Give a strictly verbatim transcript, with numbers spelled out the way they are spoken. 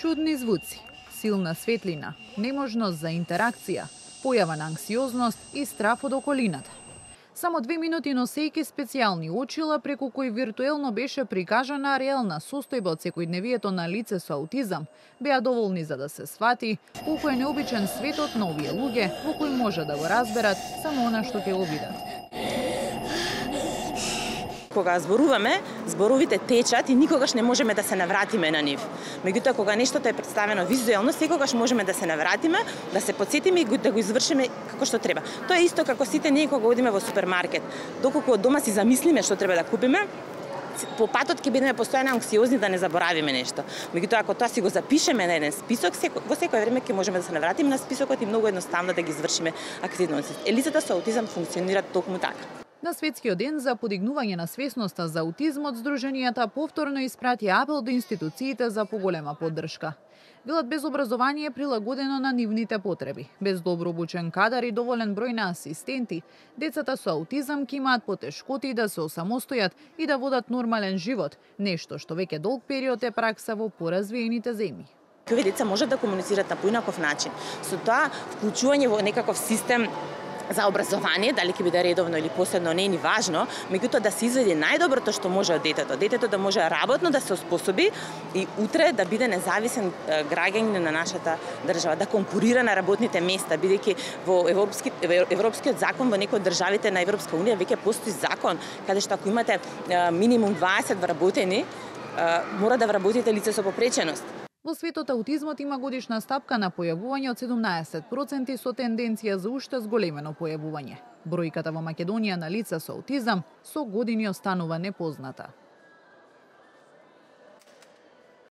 Чудни звуци, силна светлина, неможност за интеракција, појава на анксиозност и страф од околината. Само две минути носејќи специјални очила преку кои виртуелно беше прикажана реална состојба од секојдневието на лице со аутизам, беа доволни за да се свати колку е необичен светот на овие луѓе во кој може да го разберат само она што ќе го видат. Кога зборуваме, зборовите течат и никогаш не можеме да се навратиме на нив. Меѓутоа, кога нештото е представено визуелно, секогаш можеме да се навратиме, да се потсетиме и да го извршиме како што треба. Тоа е исто како сите ние кога одиме во супермаркет. Доколку од дома си замислиме што треба да купиме, по патот ќе бидеме постојано анксиозни да не заборавиме нешто. Меѓутоа, ако тоа си го запишеме на еден список, во секое време ќе можеме да се навратиме на списокот и многу едноставно да ги извршиме активности. Лицата со аутизам функционираат токму така. На Светскиот ден за подигнување на свесноста за аутизмот, здруженијата повторно испратија апел до институциите за поголема поддршка. Велат, без образование прилагодено на нивните потреби, без добро обучен кадар и доволен број на асистенти, децата со аутизам ќе имаат потешкоти да се осамостојат и да водат нормален живот, нешто што веќе долг период е пракса во поразвиените земји. Овие деца можат да комуницираат на поинаков начин. Со тоа, вклучување во некаков систем за образование, дали ќе биде редовно или посебно, не е ни важно, меѓутоа да се изведе најдоброто што може од детето. Детето да може работно да се оспособи и утре да биде независен граѓанин на нашата држава, да конкурира на работните места, бидејќи во европски, европскиот закон во некои од државите на Европска унија веќе постои закон каде што ако имате минимум дваесет вработени, мора да вработите лице со попреченост. Во светот аутизмот има годишна стапка на појавување од седумнаесет проценти со тенденција за уште зголемено појавување. Бројката во Македонија на лица со аутизам со години останува непозната.